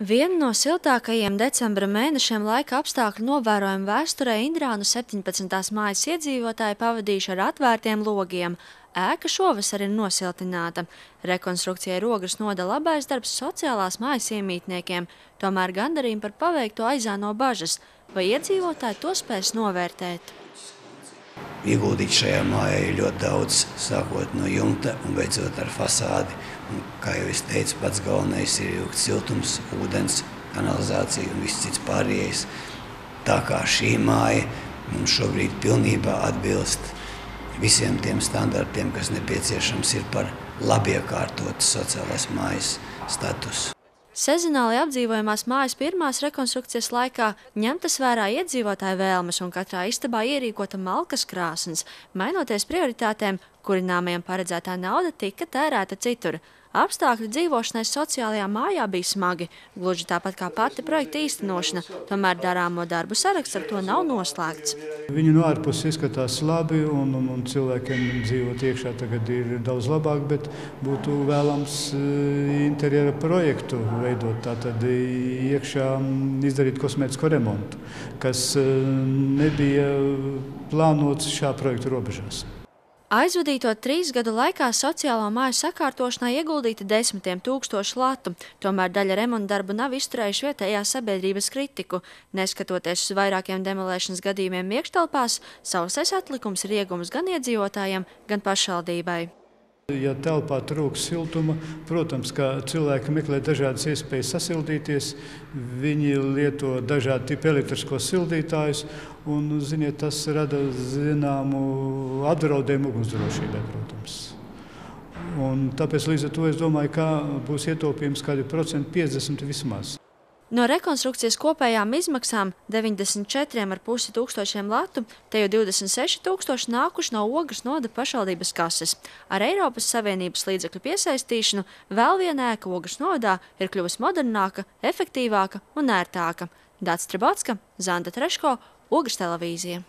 Viena no siltākajiem decembra mēnešiem laika apstākļu novērojumu vēsturē Indrānu 17. mājas iedzīvotāji pavadījuši ar atvērtiem logiem. Ēka šovasar ir nosiltināta. Rekonstrukcijai rogas noda labais darbs sociālās mājas iemītniekiem, tomēr gandarījumi par paveikto aizāno bažas, vai iedzīvotāji to spēs novērtēt. Ieguldīt šajā mājā ir ļoti daudz, sākot no jumta un beidzot ar fasādi. Un, kā jau es teicu, pats galvenais ir ilgt siltums, ūdens, kanalizācija un viss cits pārējais. Tā kā šī māja mums šobrīd pilnībā atbilst visiem tiem standartiem, kas nepieciešams ir par labiekārtotas sociālās mājas statusu. Sezonāli apdzīvojamās mājas pirmās rekonstrukcijas laikā ņemtas vērā iedzīvotāju vēlmes un katrā istabā ierīkota malkas krāsns. Mainoties prioritātēm, kurināmajam paredzētā nauda tika tērēta citur. Apstākļi dzīvošanai sociālajā mājā bija smagi, gluži tāpat kā pati projekta īstenošana, tomēr darāmo darbu saraksts ar to nav noslēgts. Viņi no ārpuses izskatās labi un cilvēkiem dzīvot iekšā tagad ir daudz labāk, bet būtu vēlams interjera projektu veidot, tātad iekšā izdarīt kosmētisko remontu, kas nebija plānots šā projekta robežās. Aizvadīto 3 gadu laikā sociālo māju sakārtošanā ieguldīti desmitiem tūkstošu latu, tomēr daļa remonta darbu nav izturējuši vietējās sabiedrības kritiku. Neskatoties uz vairākiem demolēšanas gadījumiem iekštelpās, sausais atlikums ir iegums gan iedzīvotājiem, gan pašvaldībai. Ja telpā trūks siltuma, protams, ka cilvēki meklē dažādas iespējas sasildīties, viņi lieto dažādu tipu elektriskos sildītājus, un, ziniet, tas rada zināmu apdraudējumu ugunsdrošībai, protams. Un tāpēc līdz ar to es domāju, ka būs ietaupījums kādi 50% vismaz. No rekonstrukcijas kopējām izmaksām 94,5 tūkstošiem latu, te jau 26 tūkstoši nākuši no Ogres noda pašvaldības kases. Ar Eiropas Savienības līdzekļu piesaistīšanu vēl viena ēka Ogres nodā ir kļuvusi modernāka, efektīvāka un ērtāka. Dāts Trebotska, Zanda Treško, Ogres televīzija.